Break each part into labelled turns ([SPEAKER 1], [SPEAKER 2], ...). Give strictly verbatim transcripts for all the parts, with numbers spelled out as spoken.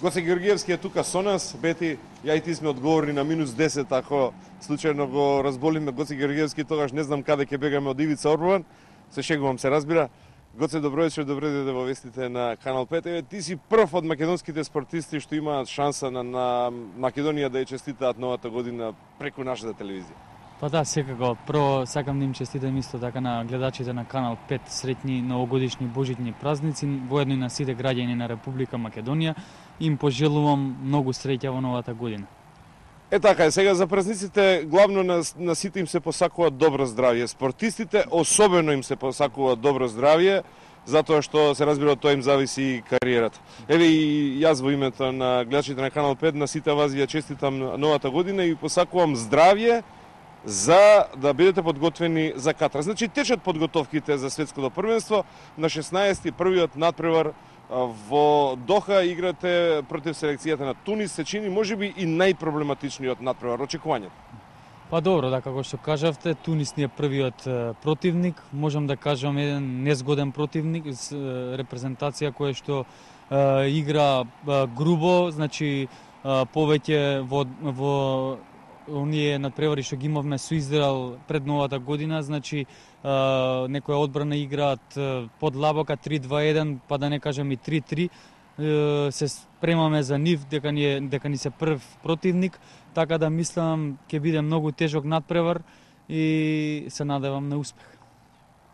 [SPEAKER 1] Гоце Георгиевски е тука со нас, Бети, ја и ти сме одговорни на минус десет, ако случајно го разболиме Гоце Георгиевски, тогаш не знам каде ќе бегаме од Ивица Орбован, се шегувам, се разбира. Гоце, добро вечер, добро дојде во вестите на Канал пет. Еве, ти си прв од македонските спортисти што имаат шанса на, на Македонија да ја честитаат новата година преку нашата телевизија.
[SPEAKER 2] Па да, секако. Прво сакам да им честитам исто така на гледачите на Канал пет среќни новогодишни божитни празници, воедно и на сите граѓани на Република Македонија. Им пожелувам многу среќа во новата година.
[SPEAKER 1] Е така е, сега за празниците главно на, на сите им се посакува добро здравје. Спортистите особено им се посакува добро здравје, затоа што се разбира од тоа им зависи и кариерата. Еве и јас во името на гледачите на Канал пет на сите вас ја честитам новата година и посакувам здравје за да бидете подготвени за Катар. Значи течат подготовките за светското првенство. На шеснаесети првиот надпревар во Доха играте против селекцијата на Тунис, се чини можеби и најпроблематичниот надпревар. Очекувањето?
[SPEAKER 2] Па добро, да, како што кажавте, Тунис ни е првиот противник, можам да кажам еден незгоден противник, репрезентација која што е, игра е, грубо, значи е, повеќе во, во оние надпревари што ги имавме со Израел пред новата година, значи Uh, некоја одбрана играат uh, под лабока три два еден, па да не кажем и три три. Uh, се спремаме за нив дека ни е, дека ни се прв противник, така да мислам ќе биде многу тежок надпревар и се надевам на успех.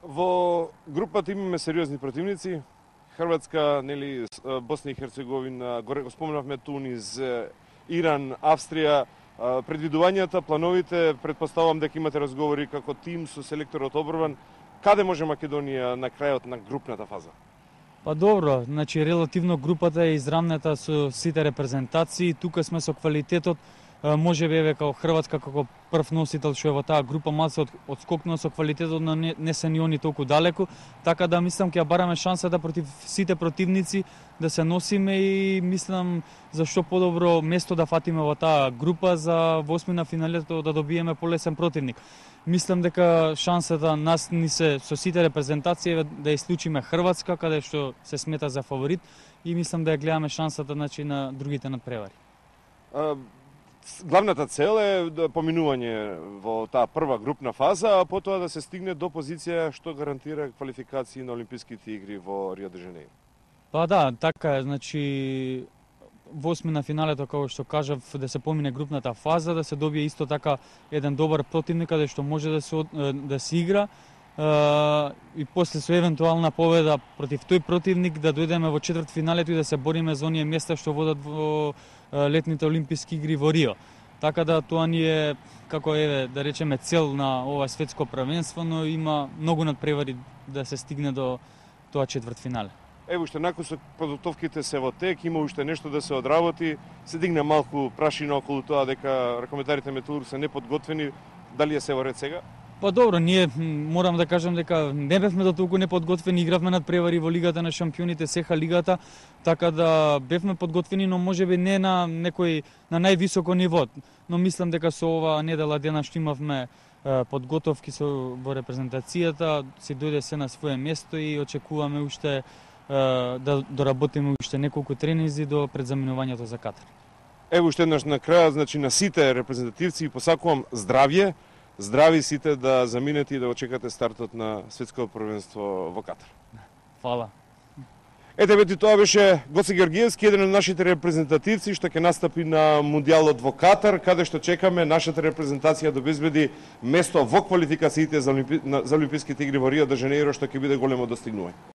[SPEAKER 1] Во групата имаме сериозни противници. Хрватска, нели, Босна и Херцеговина, горе го споменавме Тунис, Иран, Австрија. Предвидувањата, плановите, предпоставувам дека имате разговори како тим со селекторот Обрван. Каде може Македонија на крајот на групната фаза?
[SPEAKER 2] Па добро, значи релативно групата е израмната со сите репрезентации. Тука сме со квалитетот, може би еве како Хрватска како прв носител што е во таа група малце од, одскокнува со квалитетот, но не, не се ни они толку далеку, така да мислам ќе бараме шанса да против сите противници да се носиме и мислам за што подобро место да фатиме во таа група за во осмина финалето да добиеме полесен противник. Мислам дека шансата нас ни се со сите репрезентации да исклучиме Хрватска, каде што се смета за фаворит, и мислам да ја гледаме шансата значи на другите надпревари.
[SPEAKER 1] А... Главната цел е поминување во таа прва групна фаза, а потоа да се стигне до позиција што гарантира квалификации на Олимписките игри во Рио де Жанеиро.
[SPEAKER 2] Па да, така е, значи во осмина финалето, како што кажав, да се помине групната фаза, да се добие исто така еден добар противник каде што може да се да се игра, и после со евентуална победа против тој противник да дојдеме во четвртфиналето и да се бориме за оние места што водат во летните олимписки игри во Рио. Така да тоа ни е како еве да речеме цел на ова светско првенство, но има многу надпревари да се стигне до тоа четвртфинале.
[SPEAKER 1] Ево уште након со подготовките се во тек, има уште нешто да се одработи, се дигне малку прашина околу тоа дека ракометарите Метеур се неподготвени, дали е се во ред сега?
[SPEAKER 2] Па добро, ние морам да кажам дека не бевме до толку неподготвени, игравме надпревари во Лигата на шампионите, сеха лигата, така да бевме подготвени, но можеби не на некој на највисоко ниво. Но мислам дека со ова недела дена што имавме подготовки со во репрезентацијата, се дојде се на свое место и очекуваме уште да доработиме уште неколку тренинзи до предзаминувањето за Катар.
[SPEAKER 1] Ево уште еднаш на крај, значи на сите репрезентативци посакувам здравје. Здрави сите да заминете и да очекате стартот на светското првенство во Катар.
[SPEAKER 2] Фала.
[SPEAKER 1] Ете, бети, тоа беше Гоце Георгиевски, еден од нашите репрезентативци што ќе настапи на Мундијалот во Катар, каде што чекаме нашата репрезентација да обезбеди место во квалификациите за, Олимпи... за Олимписките игри во Рио де Жанеиро, што ќе биде големо достигнување.